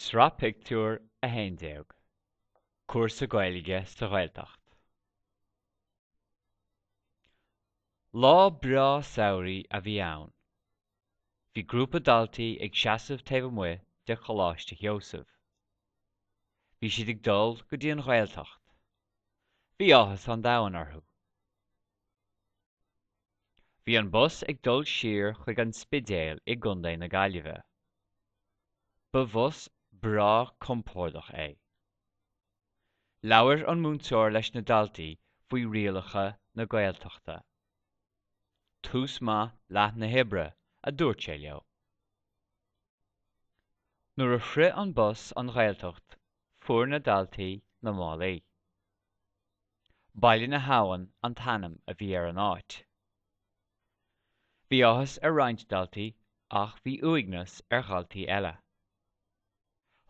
Sraith Pictiúr 11, Cúrsa Gaeilge sa Ghaeltacht. Lá breá samhraidh a bhí ann. Bhí grúpa daltaí ag seasamh taobh amuigh de Choláiste Sheosaimh. Bhí siad ag dul go dtí an Ghaeltacht. Bhí áthas an domhain orthu. Bhí an bus ag dul siar chuig an Spidéal i gContae na Gaillimhe. Ba bhus breá compordach é. Labhair an múinteoir leis na daltaí faoi rialacha na Gaeltachta. Tús maith leath na hoibre, a dúirt sé leo. Nuair a shroich an bus an Ghaeltacht fuair na daltaí na málaí. Baile na hAbhann an t-ainm a bhí ar an áit. Bhí áthas ar roinnt daltaí ach bhí uaigneas ar dhaltaí eile.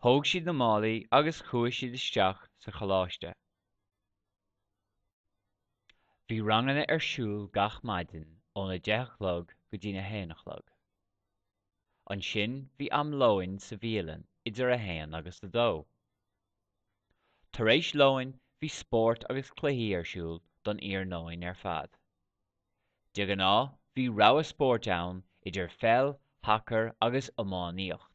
Thóg siad na málaí agus chuaigh siad isteach sa choláiste. Bhí ranganna ar siúl gach maidin óna deich a chlog go dtína haon a chlog. Ansin bhí am lóin sa bhialann idir a haon agus a dó. Tar éis lóin bhí spórt agus cluichí ar siúl don iarnóin ar fad. De ghnáth bhí rogha spóirt ann idir pheil, shacar agus iománaíocht.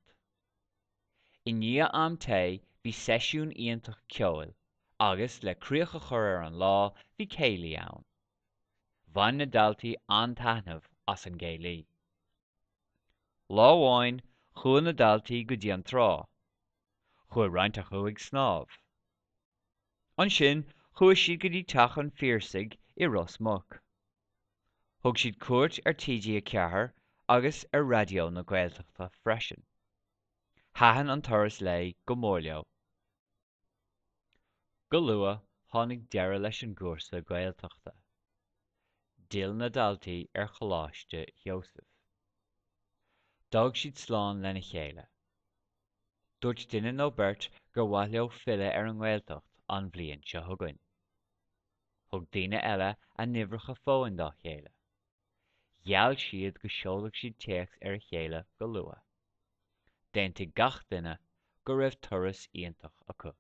I ndiaidh am tae bhí seisiún iontach ceoil agus le críoch a chur ar an lá bhí céilí ann. Bhain na daltaí an-taitneamh as an gcéilí. Lá amháin chuaigh na daltaí go dtí an trá. Chuaigh roinnt acu ag snámh. Ansin chuaigh siad go dtí Teach an Phiarsaigh i Ros Muc. Thug siad cuairt ar TG4 agus ar Raidió na Gaeltachta freisin. Thaitin an turas lae go mór leo. Go luath tháinig deireadh leis an gcúrsa Gaeltachta. D'fhill na daltaí ar Choláiste Sheosaimh. D'fhág siad slán lena chéile. Dúirt duine nó beirt gur mhaith leo filleadh ar an nGaeltacht an bhliain seo chugainn. Thug daoine eile a n-uimhreacha fóin dá chéile. Gheall siad go seolfadh siad téacs ar a chéile go luath. D'aontaigh gach duine go raibh turas iontach acu.